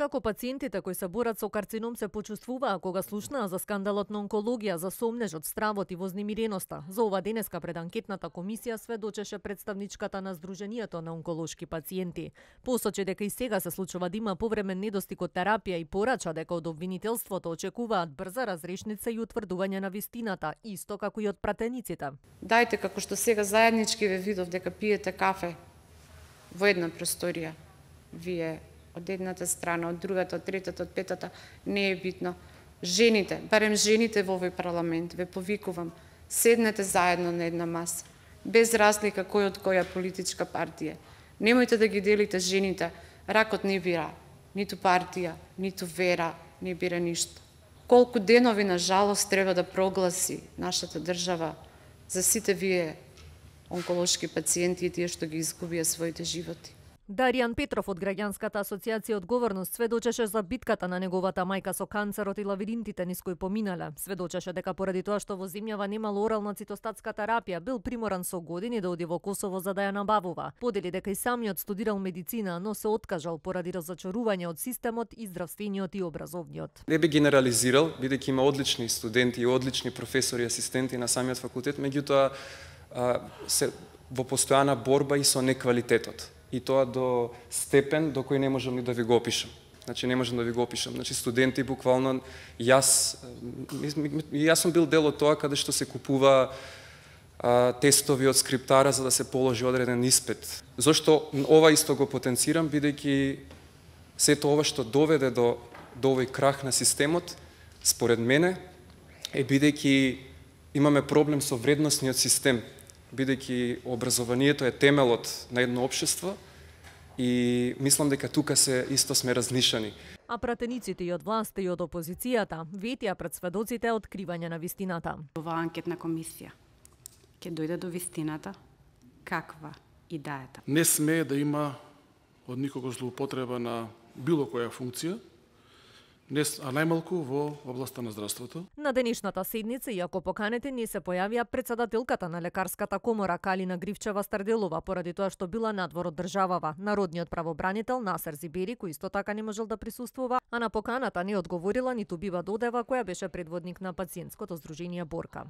Како пациентите кои се борат со карцином се почувствуваа кога слушнаа за скандалот на онкологија, за сомнежот, стравот и вознемиреноста? За ова денеска пред анкетната комисија сведочеше представничката на Сдруженијето на онколошки пациенти. Посочи дека и сега се случува да има повремен недостиг од терапија и порача дека од обвинителството очекуваат брза разрешница и утврдување на вистината, исто како и од пратениците. Дајте, како што сега заеднички ве видов дека пиете кафе во една просторија, вие од едната страна, од другата, од третата, од петата, не е битно. Жените, барем жените во овој парламент, ве повикувам, седнете заедно на една маса, без разлика кој од која политичка партија. Немојте да ги делите жените, ракот не бира, ниту партија, ниту вера, не бира ништо. Колку денови, на жалост, треба да прогласи нашата држава за сите вие онколошки пациенти и тие што ги изгубија своите животи. Даријан Петров од Граѓанската асоциација Одговорност сведочеше за битката на неговата мајка со канцерот и лавиринтите низ кои поминале. Сведочеше дека поради тоа што во земјава немало орална цитостатска терапија, бил приморан со години да оди во Косово за да ја набавува. Подели дека и самиот студирал медицина, но се откажал поради разочарување од системот и здравствениот и образовниот. Не би генерализирал, бидејќи има одлични студенти и одлични професори и асистенти на самиот факултет, меѓутоа се во постојана борба и со неквалитетот. И тоа до степен до кој не можам ни да ви го опишам. Значи не можам да ви го опишам. Значи студенти буквално јас сум бил дел од тоа каде што се купува тестови од скриптара за да се положи одреден испит. Зошто ова исто го потенцирам, бидејќи сето ова што доведе до овој крах на системот, според мене, е бидејќи имаме проблем со вредносниот систем, бидејќи образованието е темелот на едно општество и мислам дека тука се исто сме разнишани. А пратениците и од власта и од опозицијата ветија пред сведоците откривање на вистината. Оваа анкетна комисија ќе дојде до вистината каква и да е таа. Не смее да има од никого злоупотреба на било која функција, а најмалку во областа на здравството. На денешната седница, иако поканете, не се појавија председателката на лекарската комора Калина Гривчева-Старделова, поради тоа што била надвор од државава. Народниот правобранител Насер Зибери, кој исто така не можел да присуствува, а на поканата не одговорила ниту Бива Додева, која беше предводник на пациентското здружение Борка.